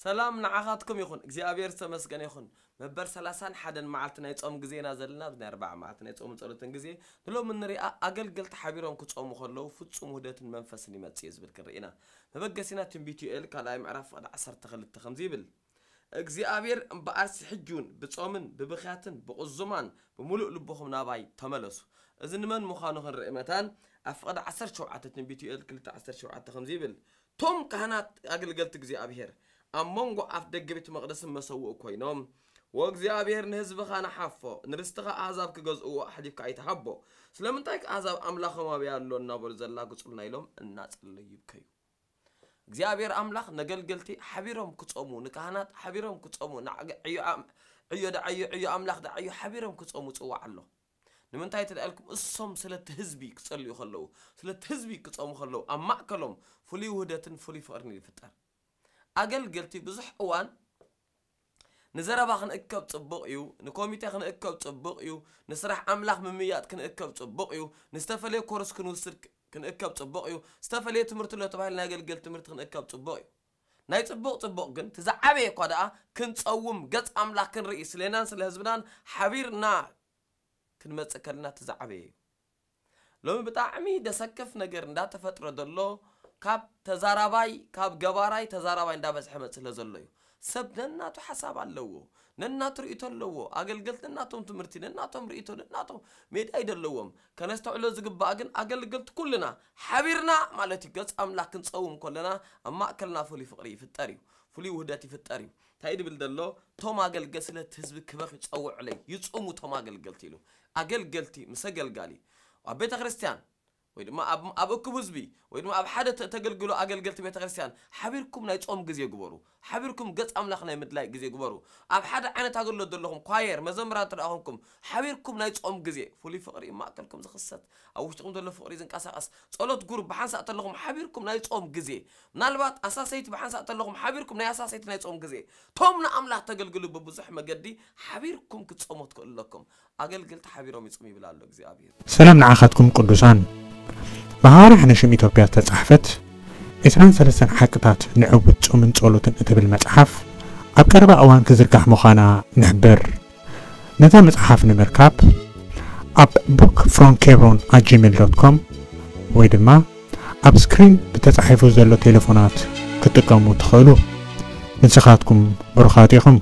ሰላም ንዓኻትኩም ይኹን። እግዚኣብሔር ዝተመስገነ ይኹን። መበል ሰላሳን ሓደን መዓልቲ ናይ ጾም ግዜና ዘለና፣ ኣብዚ ናይ ኣርባዓ መዓልቲ ናይ ጾምን ጸሎትን ግዜ። ንሎሚ ንሪኣ ኣገልገልቲ ሓቢሮም ክጾሙ ከለዉ ፍጹም ውህደትን መንፈስን ይመጽእ እዩ ዝብል ክንርኢ ኢና። መበገሲና ትንቢት ዮኤል ካልኣይ ምዕራፍ ፍቕዲ ዓሰርተ ክልተ ከምዚ ይብል፣ እግዚኣብሔር እምበኣርሲ ሕጂ እውን ብጾምን ብብኽያትን ብቕዙማን ብምሉእ ልብኹም ናባይ ተመለሱ። እዚ ንመን ምዃኑ ክንርኢ መታን ኣብ ፍቕዲ ዓሰርተ ሸውዓተ ትንቢት ዮኤል ክልተ ዓሰርተ ሸውዓተ ከምዚ ይብል፣ ቶም ካህናት ኣገልገልቲ እግዚኣብሔር ኣብ መንጎ ኣፍ ደገ ቤት መቕደስን መሰውእ ኮይኖም፣ "ወእግዚኣብሔር ንህዝብኻ ንሓፎ፣ ንርስትኻ ኣህዛብ ክገዝእዎ ኣሕሊፍካ ኣይትሃቦ። ስለምንታይ ከ ኣህዛብ ኣምላኾም ኣበይ ኣሎ እናበሉ ዘላግጹልና?" ኢሎም እናጸለዩ ይብከዩ። እግዚኣብሔር ኣምላኽ ነገልገልቲ ሓቢሮም ክጾሙ፣ ንካህናት ሓቢሮም ክጾሙ፣ ንዓገ-፣ ዕዮ ኣም-፣ ዕዮ ደዓዮ፣ ዕዮ ኣምላኽ ደዓዮ ሓቢሮም ክጾሙ ጽዋዕ ኣሎ። ንምንታይ ተደኣልኩም? እሶም ስለቲ ህዝቢ ክጸልዩ ከለዉ፣ ስለቲ ህዝቢ ክጾሙ ከለዉ፣ ኣብ ማእከሎም ፍሉይ ውህደትን ፍሉይ ፍቕርን ይፍጠር። ኣገልገልቲ ብዙሕ እዋን ንዘረባ ክንእከብ ጽቡቕ እዩ፣ ንኮሚቴ ክንእከብ ጽቡቕ እዩ፣ ንስራሕ ኣምላኽ ምምያጥ ክንእከብ ጽቡቕ እዩ፣ ንዝተፈለየ ኮርስ ክንውስድ ክ-፣ ክንእከብ ጽቡቕ እዩ፣ ዝተፈለየ ትምህርቲ ኣሎ ተባሂሉ ናይ ኣገልገል ትምህርቲ ክንእከብ ጽቡቕ እዩ። ናይ ጽቡቕ ጽቡቕ ግን፣ እቲ ዝዓበየ እኳ ደኣ ክንጸውም፣ ገጽ ኣምላኽ ክንርኢ፣ ስሌናን ስለ ህዝብናን ሓቢርና ክንመጽእ ከለና እቲ ዝዓበየ እዩ። ሎሚ ብጣዕሚ ደሰክፍ ነገር እንዳተፈጥረ ዘሎ፣ ካብ ተዛራባይ፣ ካብ ገባራይ ተዛራባይ እንዳበዝሐ መጽእ ስለ ዘሎ እዩ። ሰብ ነናቱ ሓሳብ ኣለዎ፣ ነናቱ ርእይቶ ኣለዎ። ኣገልገልቲ ነናቶም ትምህርቲ፣ ነናቶም ርእይቶ፣ ነናቶም ሜዳ እዩ ዘለዎም። ከነስተውዕሎ ዝግባእ ግን ኣገልገልቲ ኩልና ሓቢርና ማለት እዩ። ገጽ ኣምላኽ ክንጸውም ከለና ኣብ ማእከልና ፍሉይ ፍቕሪ ይፍጠር እዩ፣ ፍሉይ ውህደት ይፍጠር እዩ። እንታይ ድብል ዘሎ? ቶም ኣገልገል ስለቲ ህዝቢ ክበኽ ይጸውዑለይ፣ ይጹሙ ቶም ኣገልገልቲ ኢሉ። ኣገልገልቲ ምስ ኣገልጋሊ ኣብ ቤተ ክርስቲያን ወይ ድማ ኣብ፣ ኣብ እኩብ ህዝቢ ወይ ድማ ኣብ ሓደ ተ-፣ ተገልግሎ ኣገልገልቲ ቤተ ክርስቲያን ሓቢርኩም ናይ ጾም ግዜ ግበሩ። ሓቢርኩም ገጽ ኣምላኽ ናይ ምድላይ ግዜ ግበሩ። ኣብ ሓደ ዓይነት ኣገልግሎት ዘለኹም ኳየር፣ መዘምራን እንተ ደኣ ኾንኩም፣ ሓቢርኩም ናይ ጾም ግዜ፣ ፍሉይ ፍቕሪ እዩ ማእከልኩም ዝኽሰት። ኣብ ውሽጥኹም ዘሎ ፍቕሪ ዝንቀሳቐስ። ጸሎት ጉሩፕ ብሓንሳእ ተለኹም ሓቢርኩም ናይ ጾም ግዜ። ምናልባት ኣሳሰይቲ ብሓንሳእ ተለኹም ሓቢርኩም ናይ ኣሳሰይቲ ናይ ጾም ግዜ። ቶም ንኣምላኽ ተገልግሉ ብብዙሕ መገዲ ሓቢርኩም ክትጾሙ ትኽእሉ ኣለኩም። ኣገልገልቲ ሓቢሮም ይጹሙ ይብል ኣሎ እግዚኣብሔር። ሰላም ንዓኻትኩም ቅዱሳን። ብሃዋርያ ሓነሽም ኢትዮጵያ ዝተጻሕፈት ዕስራን ሰለስተን ሓቅታት ንዕውት ጾምን ጸሎትን እትብል መጽሓፍ ኣብ ቀረባ እዋን ክዝርጋሕ ምዃና ንሕብር። ነዛ መጽሓፍ ንምርካብ ኣብ book from hebron at gmail dot com ወይ ድማ ኣብ ስክሪን ብተጻሒፉ ዘሎ ቴሌፎናት ክትጥቀሙ ትኽእሉ። ንስኻትኩም ብሩኻት ኢኹም።